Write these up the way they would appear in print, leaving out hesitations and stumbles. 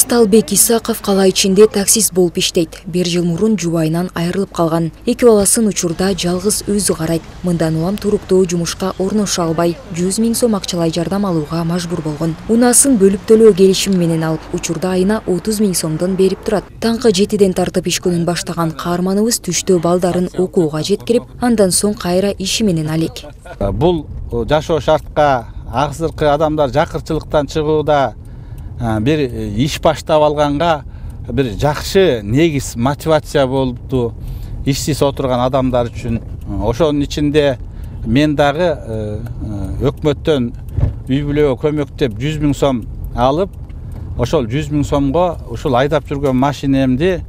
Сталбек Исаков кала ичинде таксист болуп иштейт. 1 жыл мурун жубайынан айрылып калган. 2 баласын учурда жалгыз өзү карайт. Мындан улам туруктуу жумушка орношу албай, 100 000 сом акчалай жардам алууга мажбур болгон. Унаасын бөлүп төлөө келишими менен алып, учурда айына 30 000 сомдон берип турат. Таңкы 7ден тартып иш күнүн баштаган каарманыбыз түштө балдарын окууга жеткирип, андан соң кайра иши менен алек. Бул жашоо шартка акыркы адамдар жакырчылыктан чыгууда бир иш баштап алганга бир жакшы негиз мотивация болупту ишсиз отурган адамдар үчүн. Ошонун ичинде мен дагы өкмөттөн үй бүлөгө көмөктөп 100 000 сом алып, ошол 100 000 сомго ушул айдап жүргөн машинемди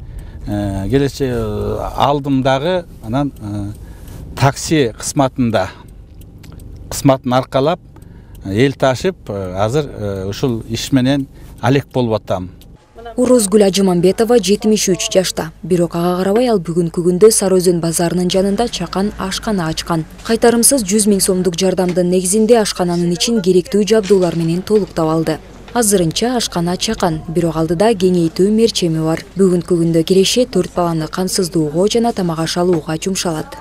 алдым дагы, анан такси кызматын аркалап эл ташып, азыр ушул иш менен алек болуп атам. Орозгүл Ажымамбетова 73 жашта. Бирок ага карабай ал бүгүнкү күндө Сары Өзөн базарынын жанында чакан ашкана ачкан. Кайтарымсыз 100 000 сомдук жардамдын негизинде ашкананын ичин керектүү жабдуулар менен толуктап алды. Азырынча ашкана чакан, бирок алдыда кеңейтүү мерчеми бар. Бүгүнкү күндө киреше 4 баланы камсыздоого жана тамак аш алууга жумшалат.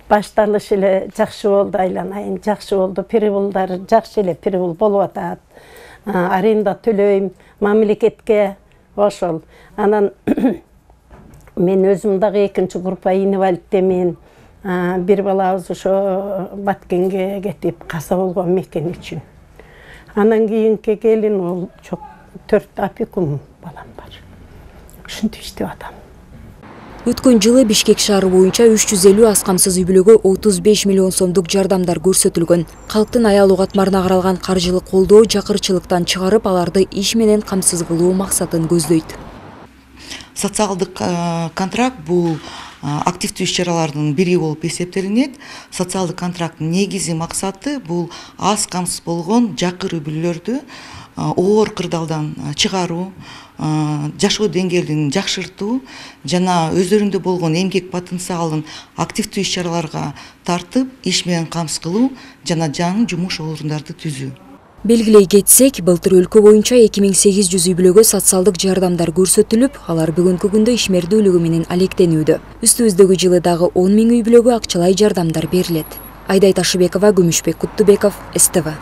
Башталыш эле жакшы болду, айланайын, жакшы болду. Переволдар жакшы эле перевол болуп атат. Аренда төлөйм, мамлекетке ошол. Анан мен өзүм дагы экинчи группа инвалидтемин. Бир балабыз ошо Баткенге кетип каза болгон мекен үчүн. Анан кийинки келин ол жок, 4 опекун балам бар. Ушинтип иштеп атам. Өткөн жылы Бишкек шаары боюнча 350 аз камсыз үй бүлөгө 35 миллион сомдук жардамдар көрсөтүлгөн. Калктын аялуу катмарына каралган каржылык колдоо жакырчылыктан чыгарып, аларды иш менен камсыз кылуу максатын көздөйт. Социалдык контракт бул активдүү иш-чаралардын бири болуп эсептелинет. Социалдык контракттын негизи максаты бул аз камсыз болгон жакыр үй бүлөлөрдү оор кырдаалдан чыгаруу, жашоо деңгээлин жакшыртуу жана өздөрүндө болгон эмгек потенциалын активдүү иш-чараларга тартып, иш менен камсыз кылуу жана жаңы жумуш орундарды түзүү. Белгилей кетсек, былтыр өлкө боюнча 2800 үй бүлөгө социалдык жардамдар көрсөтүлүп, алар бүгүнкү күндө ишмердүүлүгү менен алектенүүдө. Үстүбүздөгү жылы дагы 10 000 үй бүлөгө акчалай жардамдар берилет. Айдай Ташыбекова, Күмүшбек Куттубеков, СТВ.